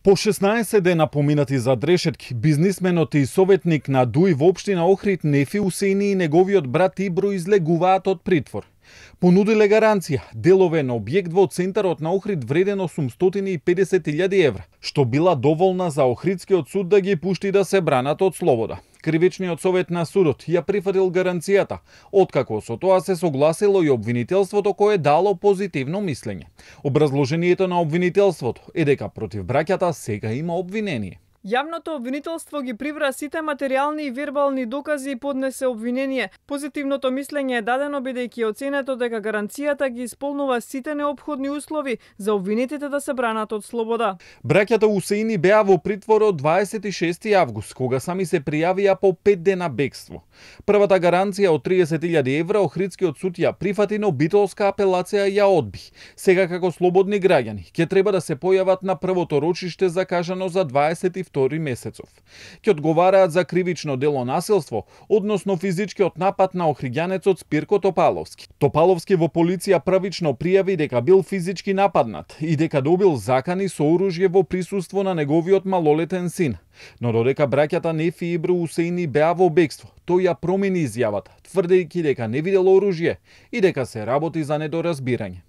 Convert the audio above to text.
По 16 дена поминати за дрешетки, бизнисменот и советник на ДУИ во општина Охрид Нефи Усени и неговиот брат Ибро излегуваат од притвор. Понудиле гаранција, делове на објект во центарот на Охрид вреден 850.000 евра, што била доволна за Охридскиот суд да ги пушти да се бранат од слобода. Кривичниот совет на судот ја прифатил гаранцијата, откако со тоа се согласило и обвинителството кое дало позитивно мислење. Образложението на обвинителството е дека против браќата сега има обвинение. Јавното обвинителство ги прибра сите материјални и вербални докази и поднесе обвинение. Позитивното мислење е дадено бидејќи е оценето дека гаранцијата ги исполнува сите неопходни услови за обвинетите да се бранат од слобода. Браќата Усени беа во притвор од 26 август, кога сами се пријавија по 5 дена бегство. Првата гаранција од 30.000 евра Охридскиот суд ја прифати, но битолска апелација ја одби. Сега како слободни граѓани ќе треба да се појават на првото рочиште закажано за 22 месецов. Ќе одговараат за кривично дело насилство, односно физичкиот напад на охриѓанецот Спирко Топаловски. Топаловски во полиција правично пријави дека бил физички нападнат и дека добил закани со оружје во присуство на неговиот малолетен син. Но додека браќата Нефи и Ибро Усени беа во бегство, тој ја промени изјавата, тврдејќи дека не видел оружје и дека се работи за недоразбирање.